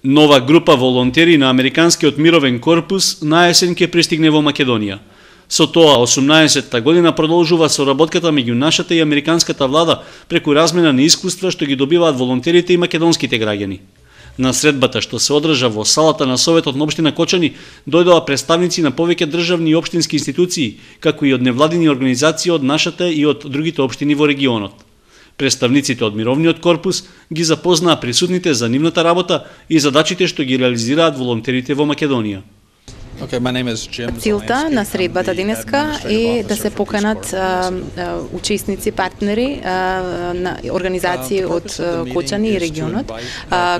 Нова група волонтери на Американскиот мировен корпус на есен ќе пристигне во Македонија. Со тоа, 18-та година продолжува соработката меѓу нашата и американската влада преку размена на искуства што ги добиваат волонтерите и македонските граѓани. На средбата што се одржа во салата на Советот на општина Кочани дојдоа представници на повеќе државни и општински институции, како и од невладини организации од нашата и од другите општини во регионот. Представниците од Мировниот корпус ги запознаа присутните за нивната работа и задачите што ги реализираат волонтерите во Македонија. Целта на средбата денеска е да се поканат учесници, партнери на организации од Кочани и регионот,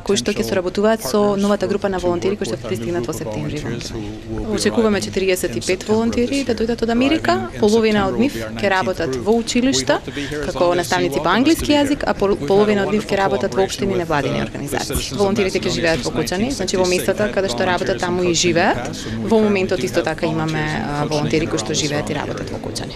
кои што ќе соработуваат со новата група на волонтери кои што ќе пристигнат во септември. Очекуваме 45 волонтери да дојдат од Америка, половина од нив ќе работат во училишта како наставници по англиски јазик, а половина од нив ќе работат во општини и невладини организации. Волонтерите ќе живеат во Кочани, значи во местата каде што работат таму и живеат. Во моментот исто така имаме волонтери кои што живеат и работат во Кочани.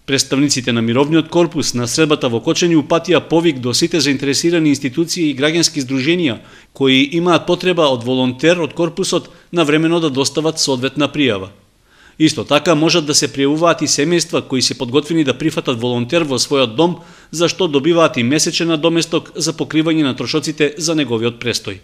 Представниците на Мировниот корпус на средбата во Кочани упатија повик до сите заинтересирани институции и граѓански здруженија кои имаат потреба од волонтер од корпусот навремено да достават соодветна пријава. Исто така можат да се пријавуваат и семејства кои се подготвени да прифатат волонтер во својот дом, за што добиваат и месечен надоместок за покривање на трошоците за неговиот престој.